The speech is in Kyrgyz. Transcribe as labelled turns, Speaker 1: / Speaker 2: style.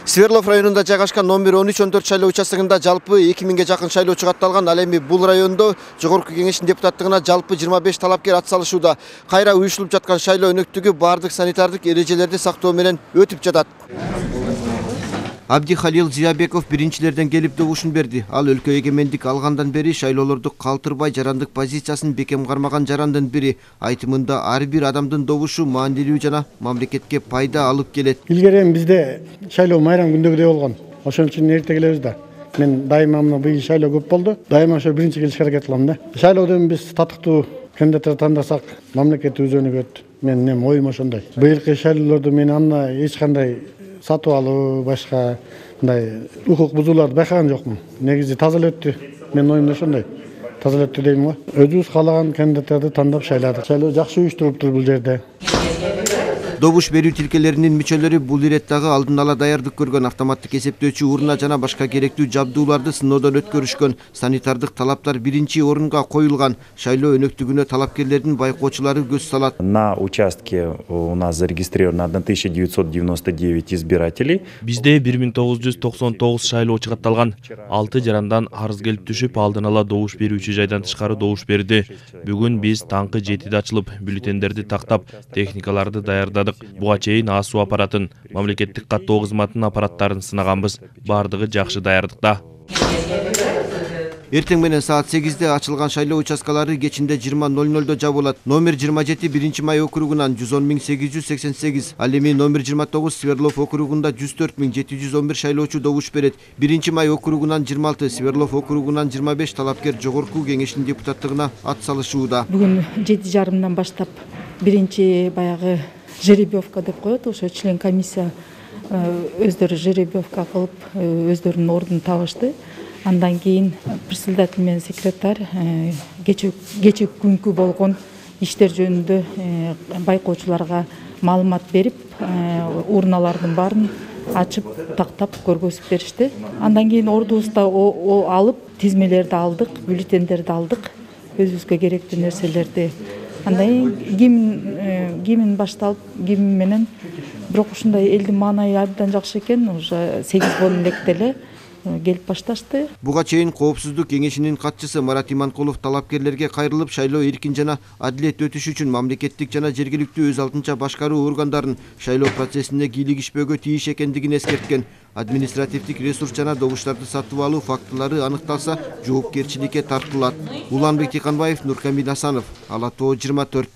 Speaker 1: Свердлов районунда жайгашкан номер 13-14 шайлоо участогунда жалпы 2000ге жакын шайлоочу катталган. Ал эми бул райондо Жогорку Кеңештин депутаттыгына жалпы 25 талапкер ат салышууда. Кайра уюшулуп жаткан шайлоо өнөктүгү бардык санитардык эрежелерди сактоо менен өтүп жатат. Абдихалил Зиябеков биринчилерден келип добушун берди. Ал өлкө эгемендик алгандан бери шайлоолорду калтырбай жарандык позициясын бекем кармаган жарандын бири. Айтымында ар бир адамдын добушу маанилүү жана мамлекетке пайда алып келет.
Speaker 2: Илгери бизде шайлоо майрам күндөгүдөй болгон. Ошон үчүн эрте келебиз да. Мен дайыма мына быйыл шайлоо көп болду. Дайыма ошо биринчи келишке аракет кылам да. Шайлоодон биз татыктуу кандидаттар тандасак, мамлекет өз өнүгөт. Менин оюм ошондой. Быйылкы шайлоолордо мен анда эч кандай сатып алуу, башка мындай укук бузууларды байкаган жокмун. Негизи таза эле өттү. Менин оюмда ошондой. Таза эле өттү дейм го. Өзүбүз каалаган кандидаттарды тандап шайладык. Шайлоо жакшы уюштуруптур бул жерде.
Speaker 1: Добуш берүү тилкелеринин мүчөлөрү бул иреттагы алдын ала даярдык көргөн автоматтык эсептөөчү урна жана башка керектүү жабдууларды сыноодон өткөрүшкөн. Санитардык талаптар биринчи орунга коюлган. Шайлоо өнөктүгүнө талапкерлердин байкоочулары көз салат.
Speaker 3: На участке у нас зарегистрировано 1999 избирателей.
Speaker 4: Бизде 1999 шайлоочу катталган. 6 жарандан арыз келип түшүп, алдын ала добуш берүүчү жайдан тышкары добуш берди. Бүгүн биз таңкы 7-де ачылып, бюллетендерди тактап, техникаларды даярдадык. Буга чейин АСУ аппаратын, мамлекеттик каттоо кызматынын аппараттарын сынаганбыз. Бардыгы жакшы даярдыкта.
Speaker 1: Эртең менен саат 8-де ачылган шайлоо участкалары кечинде 20:00 жабылат. Номер 27 1 май округунан 110.888, ал эми номер 29 Свердлов округунда 104.711 шайлоочу добуш берет. 1 май округунан 26, Свердлов округунан 25 талапкер Жогорку Кеңештин депутаттыгына ат салышууда.
Speaker 5: Бүгүн 7:30 баштап биринчи баягы жеребьевка деп коет, ошо член комиссия өздөрү жеребьевка кылып өздөрүнүн ордун табышты. Андан кийин председатель менен секретарь кечээ күнкү болгон иштер жөнүндө байкоочуларга маалымат берип, урналардын баарын ачып, тактап көргөзүп беришти. Андан кийин ордубузда алып, тизмелерди алдык, бюллетендерди алдык, өзүбүзгө керектүү нерселерди. Андан кийин гимн башталып, гимн менен бирок ушундай элдин маанайы абдан жакшы экен, уже 8 электе эле келип башташты.
Speaker 1: Буга чейин Коопсуздук кеңешинин катчысы Марат Иманкулов талапкерлерге кайрылып, шайлоо эркин жана адилет өтүш үчүн мамлекеттик жана жергиликтүү өз алдынча башкаруу органдарын шайлоо процессине кийлигишпөөгө тийиш экендигин эскерткен. Административдик ресурс жана добуштарды сатып алуу фактылары аныкталса, жоопкерчиликке тартылат. Уланбек Тиканбаев, Нуркамил Асанов, Ала Тоо 24.